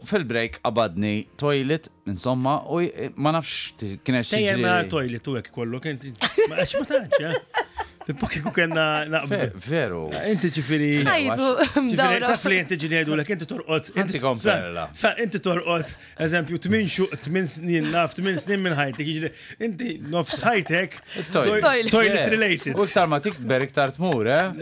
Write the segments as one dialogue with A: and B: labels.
A: Fil-break qabadni toilet, insomma, u ma nafx kienet xi.
B: Stejjer ma toilet u hekk kollu, kien ma għax ma tantx, eh? Tipo kieku kellna naqbdu.
A: Veru.
B: Inti ġifieri.
C: Ħajtu,
B: Ġifieri taf li inti ġieli jgħidulek inti torqod.
A: Inti komperla.
B: Sa inti torqod, eżempju, 8 xu, 8 snin naf, 8 snin minn ħajtek, jiġifieri inti nofs ħajtek.
C: Toilet.
B: Toilet related.
A: U iktar ma tikber iktar tmur, eh?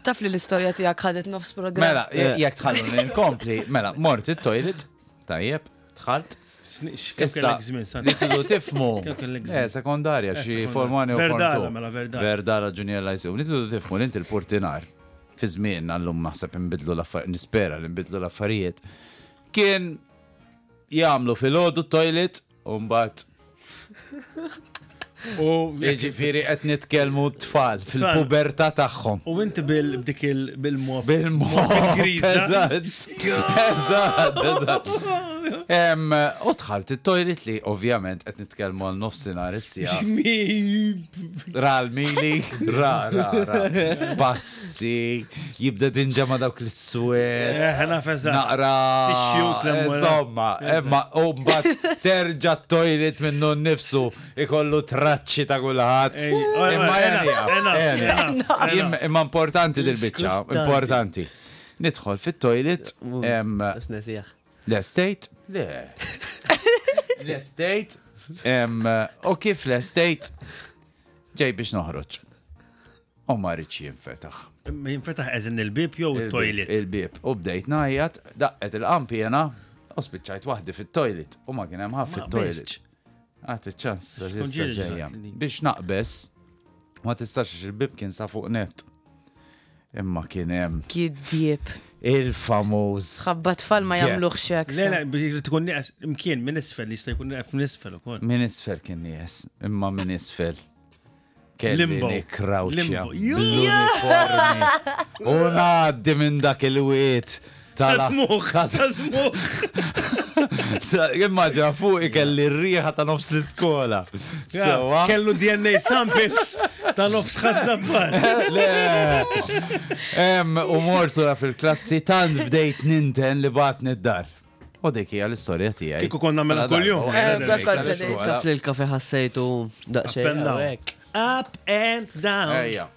C: Taf li l-istorja tiegħek ħadet nofs programm.
A: Mela, jekk tħalluni nkompli, mela, mort it-toilet, tajjeb, dħalt.
B: Kemm kellek żmien, Sandra?
A: Li tridu tifmu.
B: Kemm kellek
A: Eh,
B: żmien?
A: sekondarja,
B: Eh,
A: xi
B: sekondarja.
A: form 1 u form
B: Verdala,
A: 2.
B: mela, Verdala.
A: Verdala Junior Lyceum. Li tridu tifmu li inti l-portinar. Fi żmien għallum naħseb inbidlu l-affarijiet, nispera li nbidlu l-affarijiet. Kien jagħmlu filgħodu toilet u mbagħad
B: U
A: jiġifieri qed nitkellmu tfal fil-pubertà tagħhom.
B: U inti bil b'dik il bil-mop.
A: Bil-mop.
B: Bil-griża.
A: Eżatt. Eżatt, eżatt. Em, U dħalt it-toilet li ovvjament qed nitkellmu għal nofsinhar is-sija. Ra l-mili, ra, ra, ra. Passi, jibda dinġa ma dawk l-swed.
B: Eh, naf eżatt.
A: Naqra.
B: Tissues l-ewwel.
A: Insomma, imma u mbagħad terġa' t-toilet minnu nnifsu ikollu traċċi ta' kulħadd.
B: Ej, ora,
A: Imma
B: enough,
A: jenija,
B: enough,
A: jenija.
B: enough,
A: Im- Imma importanti dil-biċċa,
D: Skustanti.
A: importanti. Nidħol fit-toilet, em,
D: Għax nesieħ.
A: l-estate, le. L-estate, em, u kif l-estate, ġej biex noħroġ. U ma rridx jinfetaħ.
B: Jinfetaħ eżin il-bib jew il-toilet.
A: Il-bib. U bdejt ngħajjat, daqqet il-qampjena, u spiċċajt waħdi fit-toilet. U ma kien hemm ħadd
B: Ma
A: fit-toilet.
B: qbiżtx.
A: Għati ċans,
B: Xkun
A: issa
B: ġieli
A: ġejja.
B: ġrat li-
A: Biex naqbes, ma tistax għax il-bib kien sa fuq net. Imma kien hemm
C: Kiddieb.
A: il-famuż.
C: Ħabba tfal ma
A: Yeah.
C: jagħmluhx hekk.
B: Le, le, biex tkun nieqes, imkien minn isfel, jista' jkun nieqes minn isfel ukoll.
A: Min isfel kien nies, imma min isfel. Kelli
B: Limbo.
A: nikrawċja
B: Limbo.
A: bl-uniformi. U ngħaddi minn dak il-wiet.
B: Tal-tmuħ, tal-tmuħ.
A: Immaġina fuq ikelli r-riħa ta' nofs l-iskola. Sewa.
B: Kellu DNA samples ta' nofs ħazzabbar.
A: Le. Em, U mort lura fil-klassi tant bdejt ninten li batni d-dar. U dik hija l-istorja tiegħi.
B: Kieku konna nagħmilha
A: Mela
B: kuljum.
A: darba,
C: Eh,
A: wara
C: bla
A: l-iskola.
D: Taf li l-kafe ħassejtu
B: Up
D: daqsxejn.
B: and down.
D: hawnhekk.
B: Up and down.
A: Ejja.